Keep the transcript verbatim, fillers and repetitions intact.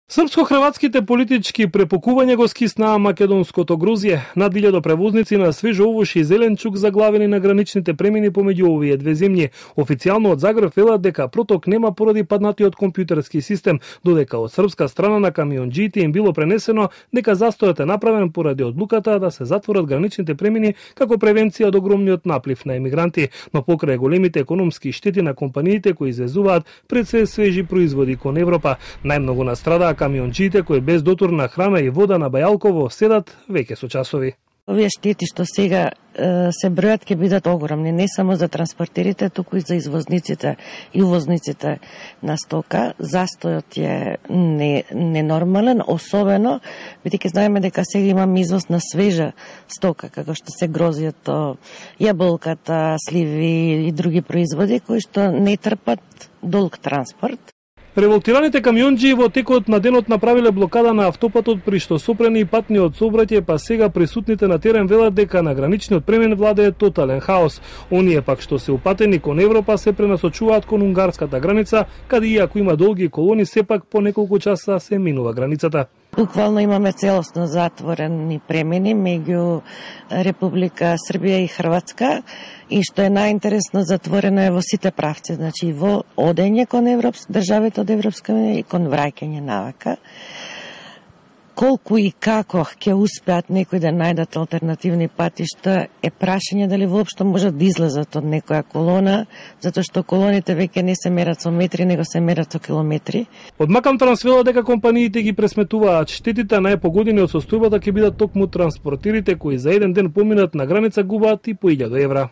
Српско-хрватските политички препокувања го скиснаа македонското Грузија. Над илјада превозници на свежо овош и зеленчук заглавени на граничните премини помеѓу овие две земји. Официјално од Загреб велат дека проток нема поради паднатиот компјутерски систем, додека од српска страна на камионџиите им било пренесено дека застојот е направен поради одлуката да се затворат граничните премини како превенција од огромниот наплив на емигранти, но покрај големите економски штети на компаниите кои извезуваат пред се свежи производи кон Европа. Најмногу настрадаа камионџиите кои без дотурна храна и вода на Бајалково седат веќе со часови. Овие штети што сега е, се бројат ќе бидат огромни, не само за транспортерите, туку и за извозниците и увозниците на стока. Застојот е не, ненормален, особено бидејќи знаеме дека сега имаме извоз на свежа стока, како што се грозјето, јаболката, сливи и други производи кои што не трпат долг транспорт. Револтираните камионџи во текот на денот направиле блокада на автопатот при што сопрени и патниот сообраќај, па сега присутните на терен велат дека на граничниот премен владее тотален хаос. Оние пак што се упатени кон Европа се пренасочуваат кон унгарската граница, каде иако има долги колони, сепак по неколку часа се минува границата. Буквално имаме целосно затворени премини меѓу Република Србија и Хрватска, и што е најинтересно, затворено е во сите правци, значи во одење кон Европс, државите од Европска унија и кон враќање навака. Колку и како ќе успеат некои да најдат алтернативни патишта е прашање дали воопшто можат да излезат од некоја колона, затоа што колоните веќе не се мерат со метри, него се мерат со километри. Од Макам трансвела дека компаниите ги пресметуваат штетите, најпогодени од состојбата ќе бидат токму транспортерите кои за еден ден поминат на граница губаат и по илјада евра.